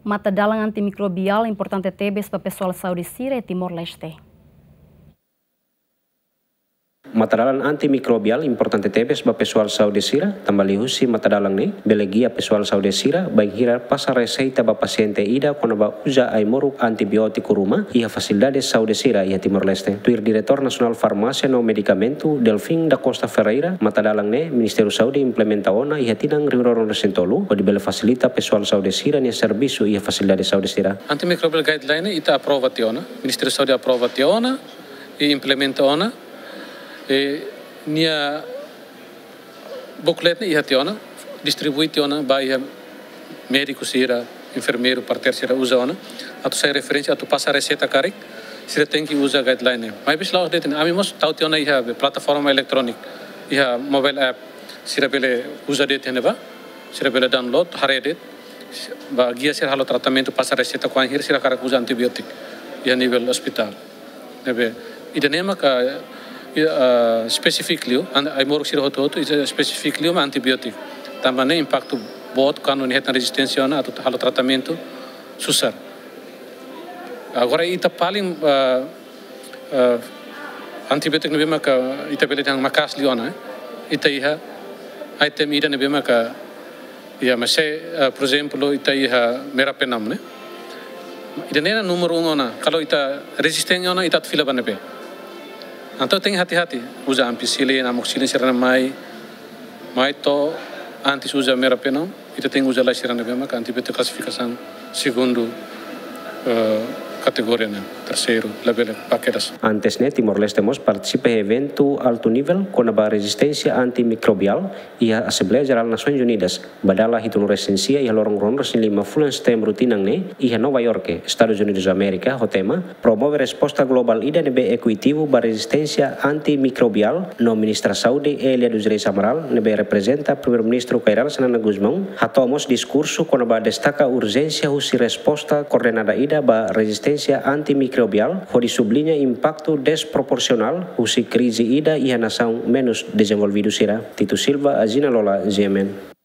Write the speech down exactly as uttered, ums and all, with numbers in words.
Matadalan antimikrobiál importante tebes ba pesoál saúde sira iha Timor-Leste. Matadalan antimikrobiál importante tebes ba pesoál saúde sira, tanba liuhusi matadalan ne'e bele gia pesoál saúde sira bainhira pasa reseita ba pasiente ida kona-ba uza ai-moruk antibiótiku ruma iha fasilidade saúde sira iha Timor-Leste. Tuir Diretór Nasionál Farmásia no Medikamentu, Delfim da Costa Ferreira, matadalan ne'e Ministériu Saúde implementa ona iha tinan rihun rua ruanulu-resin-tolu, hodi bele fasilita pesoál saúde sira-nia servisu iha fasilidade saúde sira. Antimicrobial guideline ita aprova tiha ona, Ministériu Saúde aprova tiha ona, i implementa ona, i nia booklet ne'e iha tiha ona, distribui tiha ona ba iha médiku sira, enfermeiru, parteira sira uza ona, atu sai referénsia, atu pasa reseita karik, sira tenke uza guideline ne'e. Maibé selae de'it ne'e, ami mós tau tiha ona iha plataforma eletróniku, iha mobile app, sira bele uza de'it iha ne'ebá, sira bele download, haree de'it, ba gia sira halo tratamentu, pasa reseita kuandu sira hakarak uza antibiótiku iha nivel ospitál. Ne'ebé, ida-ne'e maka, i, ah, spesífiku liu, an-, ai-moruk sira hotu-hotu, ida spesífiku liu mak antibiótiku. Tanba ne'e impaktu boot kuandu nia hetan rezisténsia ona atu halo tratamentu susar. Agora ita paling, ah, ah, antibiótiku ne'ebé maka ita bele dehan maka'as liu ona, eh. Ita iha item ida ne'ebé maka, iha, mas se, ah, por ezemplu, ita iha meropenem, ne'e. Ida-ne'e númeru um ona, kalau ita rezisténsia ona, ita atu fila ba ne'ebé. Entaun tenke hati-hati, uza ampicillin, amoxicillin sira-ne'e mai, mai to'o antes uza meropenem, ita tenke uza lai sira ne'ebé maka antibiótiku klasifikasaun segundu, eh, kategoria ne'e, terseiru, labele ba kedas. Antes ne'e, Timor-Leste mós partisipa iha eventu altu nivel kona-ba rezisténsia antimikrobiál iha Asembleia Jerál Nasoins Unidas, ba dala hitunulu-resin-sia iha loron ruanulu-resin-lima fulan Setembru tinan ne'e, iha Nova York, Estadus Unidus Amérika, ho tema Promove resposta globál ida ne'ebé ekuitativu ba rezisténsia antimikrobiál, no Ministra Saúde, Elia dos Reis Amaral, ne'ebé reprezenta Primeiru-Ministru Kay Rala Xanana Gusmão, hato'o mós diskursu kona-ba destaka urjénsia husi resposta koordenada ida ba rezisténsia antimikrobiál, hodi subliña impaktu desproporsionál husi krize ida iha nasaun menus dezenvolvidu sira. Tito Silva, Azina Lola, G M N.